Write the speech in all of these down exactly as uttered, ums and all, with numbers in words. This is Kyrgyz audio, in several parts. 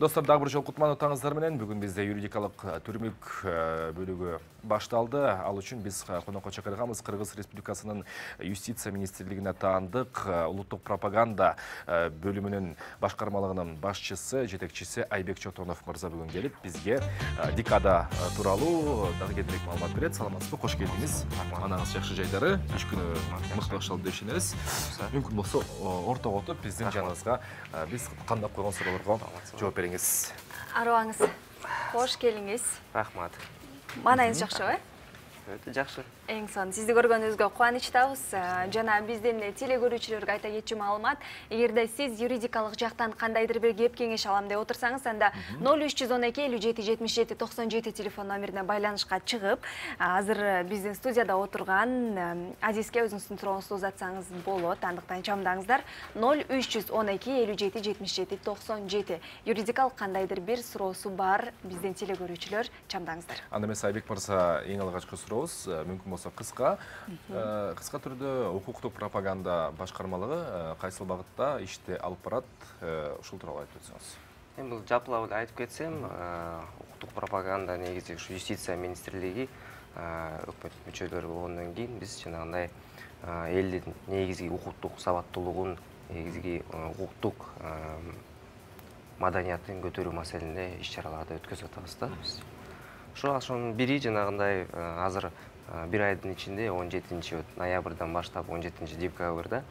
Достор, дагы бир жолу кутман отаңыздар менен бүгүн бизде юридикалык түрмүк бөлүгү башталды. Ал үчүн биз конокко чакырганбыз Кыргыз Республикасынын юстиция министрлигине таандык улуттук пропаганда бөлүмүнүн башкармалыгынын башчысы, жетекчиси Айбек Чотонов мырза бүгүн келип бизге дикада тууралуу дагы кененирээк маалымат берет. Саламатсызбы? Кош келдиңиз. Анаңыз жакшы жайдары, иш күнү мыкты башталды деп ишенебиз. Мүмкүн болсо ортого отуруп биздин жаныбызга биз кандап койгон суроолорго жооп бериңиз. Арыбаңыз. Кош келиңиз. Рахмат. Маанайыңыз жакшыбы? Өтө жакшы. Эң сонун. Сизди көргөнүбүзгө кубанычтабыз. Жана биздин теле көрүүчүлөргө айта кетчү маалымат, эгерде сиз юридикалык жактан кандайдыр бир кеп кеңеш алам деп отурсаңыз, анда ноль үч жүз он эки элүү жети жетимиш жети токсон жети телефон номерине байланышка чыгып, азыр биздин студияда отурган Азизге өзүңүздүн сурооңузду узатсаңыз болот. Андыктан чамдаңыздар ноль үч жүз он эки элүү жети жетимиш жети токсон жети. Юридикалык кандайдыр бир суроосу бар биздин теле көрүүчүлөр, чамдаңыздар. Анда эмес Айбек мырза, эң алгачкы сурообуз мүмкүн болсо кыска кыска түрдө укуктук пропаганда башкармалыгы кайсыл багытта ишти алып барат, ушул тууралуу айтып өтсөңүз. Эми бул жапылап айтып кетсем, укуктук пропаганда негизи ушу юстиция министрлиги өкмөт мүчөлөрү болгондон кийин биз жанагындай элдин негизги укуктук сабаттуулугун, негизги укуктук маданиятын көтөрүү маселесинде иш-чараларды өткөзүп атабыз да биз. Ошо ошонун бири жанагындай азыр бир айдын ичинде он жетинчи ноябрдан баштап он жетинчи декабрда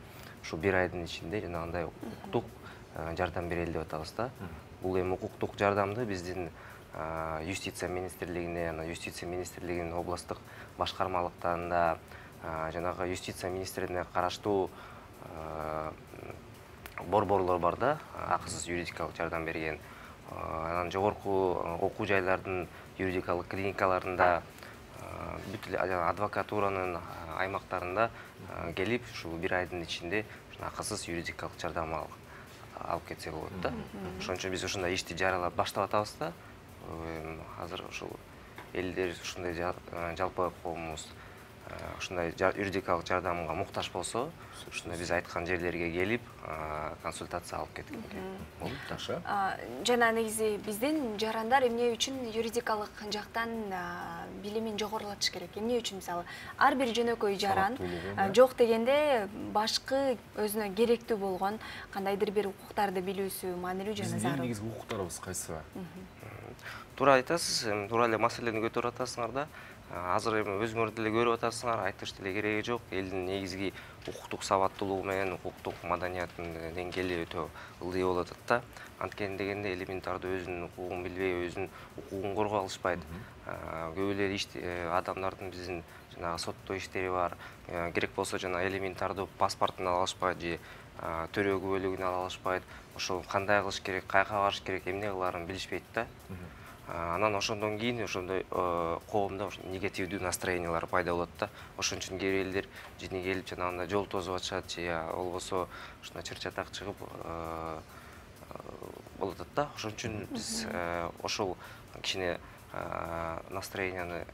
ушу бир айдын ичинде жанагындай укуктук жардам берели деп атабыз да. Бул эми укуктук жардамды биздин юстиция министрлигине, жана юстиция министрлигинин областтык башкармалыктарында, жанагы юстиция министрлигине караштуу борборлор бар да, акысыз юридикалык жардам берген. Анан жогорку окуу жайлардын юридикалык клиникаларында, бүт адвокатуранын аймактарында келип, ушул бир айдын ичинде акысыз юридикалык жардам алып кетсе болот да. Ошон үчүн биз ушундай ишти жарыялап баштап атабыз да. Азыр ушул элдер ушундай жалпы коомубуз ушундай юридикалык жардамга муктаж болсо, ушундай биз айткан жерлерге келип, консультация алып кеткенге болот. Жакшы. Жана негизи биздин жарандар эмне үчүн юридикалык жактан билимин жогорулатыш керек? Эмне үчүн мисалы ар бир жөнөкөй жаран жок дегенде башкы өзүнө керектүү болгон кандайдыр бир укуктарды билүүсү маанилүү жана зарыл. Биздин негизги укуктарыбыз кайсы? Туура айтасыз, туура эле маселени көтөрүп атасыңар да. Азыр эми өзүңөр деле көрүп атасыңар, айтыш деле кереги жок. Элдин негизги укуктук сабаттуулугу менен укуктук маданиятынын деңгээли өтө ылдый болуп атат да. Анткени дегенде элементардуу өзүнүн укугун билбей, өзүнүн укугун коргой алышпайт. Көп эле адамдардын биздин жанагы соттоо иштери бар. Керек болсо жана элементардуу паспортун ала алышпайт же төрөө күбөлүгүн ала алышпайт. Ошол кандай кылыш керек, каяка барыш керек, эмне кылаарын билишпейт да. Анан ошондон кийин ошондой коомдо негативдүү настроениялар пайда болот да. Ошон үчүн кээ бир элдер жини келип жанагындай жол тосуп атышат же болбосо ушундай чыр-чатак чыгып болуп атат да. Ошон үчүн биз ошол кичине настроенияны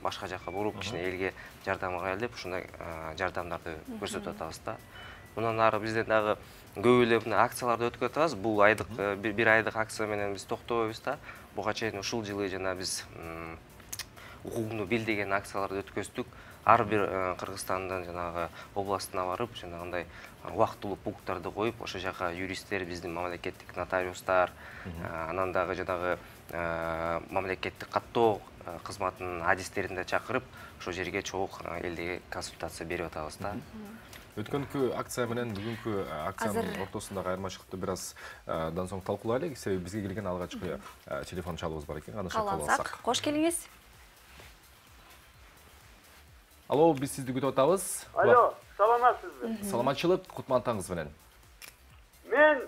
башка жака буруп, кичине элге жардам кылайлы деп ушундай жардамдарды көрсөтүп атабыз да. Мындан ары бизден дагы көп эле акцияларды өткөрүп атабыз. Бул айдык бир айдык акция менен биз токтобойбуз да. Буга чейин ушул жылы жана биз укугуңду бил деген акцияларды өткөздүк. Ар бир Кыргызстандын жанагы областына барып, жанагындай убактылуу пункттарды коюп, ошол жака юристтер, биздин мамлекеттик нотариустар, анан дагы жанагы мамлекеттик каттоо кызматынын адистерин да чакырып, ошол жерге чогуу элге консультация берип атабыз да. Өткөнкү акция менен бүгүнкү акциянын ортосундагы айырмачылыкты бир аздан соң талкуулайлы. Себеби бизге келген алгачкы телефон чалуубуз бар экен. Аны кабыл алсак. Кош келиңиз. Алло, биз сизди күтүп атабыз. Алло, саламатсызбы? Саламатчылык, кутман таңыңыз менен. Мен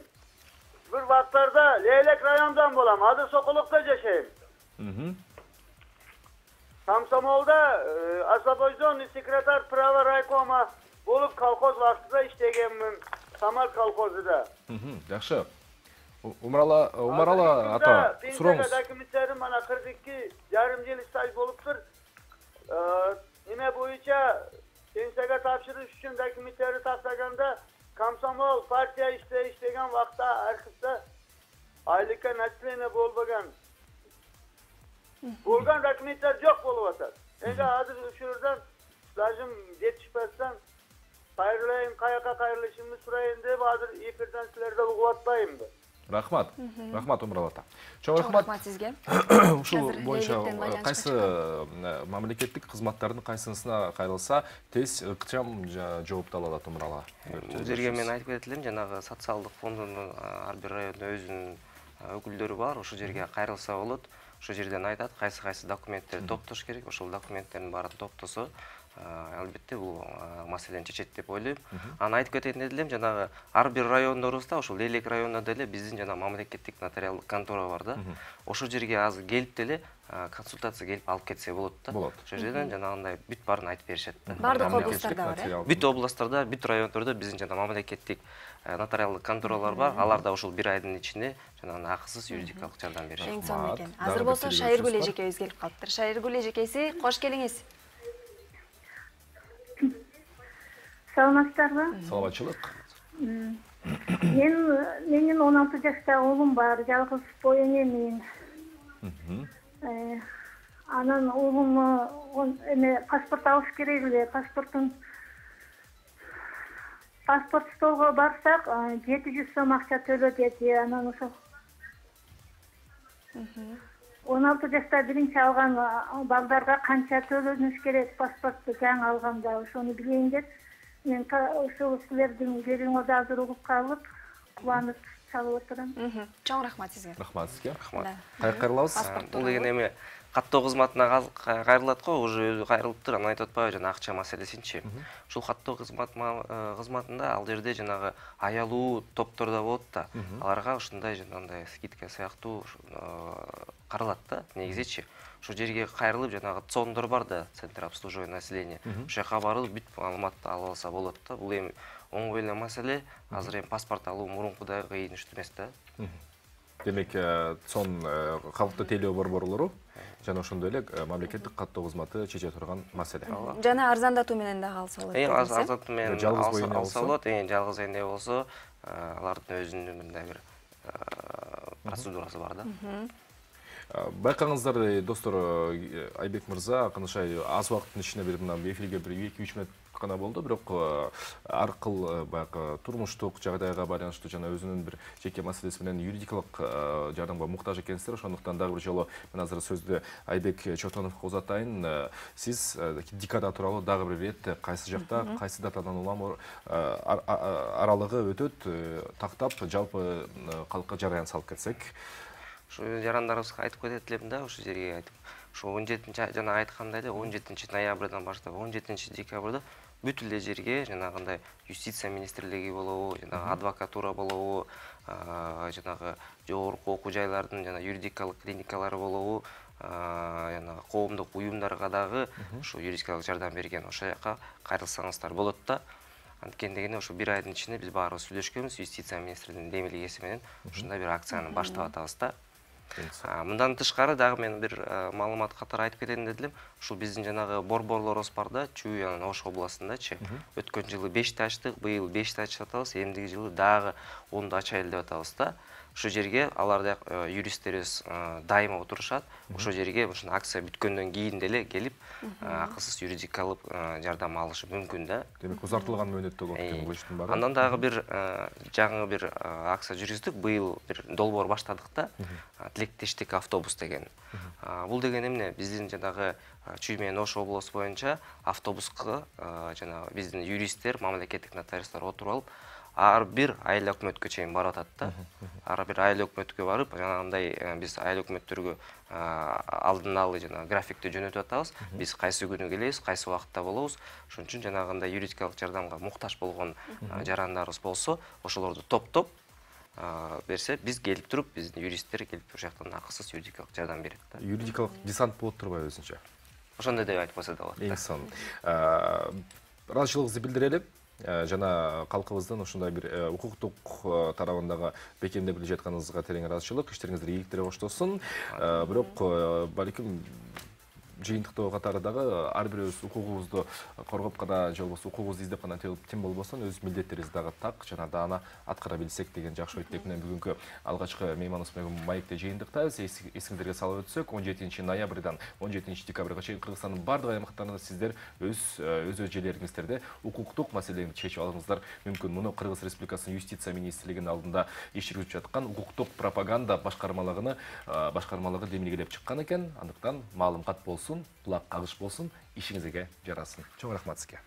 бир вакыттарда Лейлек районунан болам, Ады Сокулукта жашайм. Комсомолда освобожденный секретарь права райкома болуп колхоз вакытында иштегенмин, Самар колхозунда. Жакшы. Умарала, Умарала ата, сурооңуз. Документтерим мана кырк эки жарым жыл стаж болуптур. Неме боюнча пенсияга тапшырыш үчүн документтерди тактаганда комсомол партия иштеген вакытта архивде айлыкка начисление болбогон болгон документтер жок болуп атат. Эми азыр ушурдан даже жетишпестен кайрылайын, каяка кайрылышымды сурайын деп азыр эфирден силерди угуп атпаймынбы? Рахмат. Рахмат Умурал ата. Чоң Чоң рахмат. рахмат сизге. Ушул боюнча кайсы мамлекеттик кызматтардын кайсысына кайрылса тез ыкчам жоопту ала алат Умурал ата. Бул жерге мен айтып кетет элем, жанагы социалдык фондунун ар бир райондо өзүнүн өкүлдөрү бар, ошол жерге кайрылса болот. Ошол жерден айтат кайсы кайсы документтерди топтош керек, ошол документтердин баарын топтосо албетте бул маселени чечет деп ойлойм. Аны айтып кетейин дедим, жанагы ар бир райондорубузда, ошол Лейлек районунда деле биздин жана мамлекеттик нотариалдык контора бар да. Ошол жерге азыр келип деле консультация келип алып кетсе болот да. Болот. Ошол жерден жанагындай бүт баарын айтып беришет да. Бардык областтарда бар, э? Бүт областтарда, бүт райондордо биздин жана мамлекеттик нотариалдык конторалар бар. Алар да ошол бир айдын ичинде жанагы акысыз юридикалык жардам беришет. Эң сонун экен. Азыр болсо Шайыргүл эжекебиз келип калыптыр. Шайыргүл эжекеси, кош келиңиз. Саламатсыздарбы? Саламатчылык. Мен менин он алты жаштагы уулум бар, жалгыз боюн эмин. Анан уулуму эме паспорт алыш керек эле, паспортун паспорт столго барсак, жети жүз сом акча төлө деди. Анан ошо он алты жашта биринчи алган балдарга канча төлөнүш керек паспорту жаңы алганда, ошону билейин деп. Мен ошол силердин берүүңөрдү азыр угуп калып, кубанып чалып отурам. Чоң рахмат сизге. Рахмат сизге. Рахмат. Кайра кайрылабыз. Бул деген эми каттоо кызматына кайрылат го, уже өзү кайрылыптыр, аны айтып атпайбы, жана акча маселесинчи. Ушул каттоо кызмат кызматында ал жерде жанагы аялуу топтордо болот да. Аларга ушундай жанагындай скидка сыяктуу каралат да, негизичи. Ошол жерге кайрылып жанагы цондор бар да, центр обслуживания населения. Ошол жака барып бүт маалыматты ала алса болот да. Бул эми оңой эле маселе. Азыр эми паспорт алуу мурункудай кыйын иш эмес да. Демек, цон калктуу тейлөө борборлору жана ошондой эле мамлекеттик каттоо кызматы чече турган маселе. Жана арзандатуу менен дагы алса болот. Эң арзандатуу менен жалгыз боюн алса болот. Эң жалгыз энде болсо, алардын өзүнүн мындай бир процедурасы бар да. Байкаңыздар, достор, Айбек мырза, акынышай аз убакыттын ичинде бир мына эфирге бир эки үч мүнөт гана болду, бирок ар кыл баягы турмуштук жагдайга байланыштуу жана өзүнүн бир жеке маселеси менен юридикалык жардамга муктаж экенсиздер. Ошондуктан дагы бир жолу мен азыр сөздү Айбек Чотоновго узатайын. Сиз декада тууралуу дагы бир ирет кайсы жакта, кайсы датадан улам аралыгы өтөт, тактап жалпы калкка жараян салып кетсек. Ошо жарандарыбызга айтып кетет элем да, ошол жерге айтып. Ошо он жетинчи жана айткандай эле он жетинчи ноябрдан баштап он жетинчи декабрда бүт эле жерге жанагындай юстиция министрлиги болобу, жанагы адвокатура болобу, жанагы жогорку окуу жайлардын жана юридикалык клиникалары болобу, жана коомдук уюмдарга дагы ошо юридикалык жардам берген ошол жака кайрылсаңыздар болот да. Анткени дегенде ошо бир айдын ичинде биз баарыбыз сүйлөшкөнбүз, юстиция министрлигинин демилгеси менен ушундай бир акцияны баштап атабыз да. Мындан тышкары дагы мен бир маалымат катары айтып кетейин дедим. Ушул биздин жанагы борборлорубуз бар да, Чүй жана Ош областындачы. Өткөн жылы бешти ачтык, быйыл бешти ачып атабыз, эмдиги жылы дагы онду ачайлы деп атабыз да. Ошол жерге аларда юристтерибиз дайыма отурушат. Ошол жерге ушул акция бүткөндөн кийин деле келип, акысыз юридикалык жардам алышы мүмкүн да. Демек, узартылган мөөнөттө болот экен бул иштин баары. Андан дагы бир жаңы бир акция жүргүздүк. Быйыл бир долбоор баштадык да. Тилектештик автобус деген. Бул деген эмне? Биздин жанагы Чүй менен Ош облусу боюнча автобуска жана биздин юристтер, мамлекеттик нотариустар отуруп алып, ар бир айыл өкмөткө чейин барып атат да. Ар бир айыл өкмөткө барып, жанагындай биз айыл өкмөттөргө алдын алы жана графикти жөнөтүп атабыз. Биз кайсы күнү келебиз, кайсы убакытта болобуз. Ошон үчүн жанагындай юридикалык жардамга муктаж болгон жарандарыбыз болсо, ошолорду топтоп берсе, биз келип туруп, биздин юристтер келип туруп жактан акысыз юридикалык жардам берет да. Юридикалык десант болуп турбайбы өзүнчө? Ошондой деп айтып койсо да болот. Эң сонун. Ыраазычылыгыбызды билдирели. Жана калкыбыздын ушундай бир укуктук тарабындагы бекемдеп биле жатканыңызга терең ыраазычылык, иштериңиздер ийгиликтери коштолсун. Бирок балким жыйынтыктоо катары дагы ар бирөөбүз укугубузду коргоп гана же болбосо укугубузду издеп гана тем болбостон өз милдеттерибизди дагы так жана даана аткара билсек деген жакшы ой тилек менен бүгүнкү алгачкы мейманыбыз менен маекте жыйынтыктайбыз. Эсиңиздерге салып өтсөк, он жетинчи ноябрдан он жетинчи декабрга чейин Кыргызстандын бардык аймактарында сиздер өз өз өз жерлериңиздерде укуктук маселелерди чечип алыңыздар мүмкүн. Муну Кыргыз Республикасынын юстиция министрлигинин алдында иш жүргүзүп жаткан укуктук пропаганда башкармалыгыны башкармалыгы демилгелеп чыккан экен. Андыктан маалым кат болсун, кулак кагыш болсун, ишиңизге жарасын. Чоң рахмат сизге.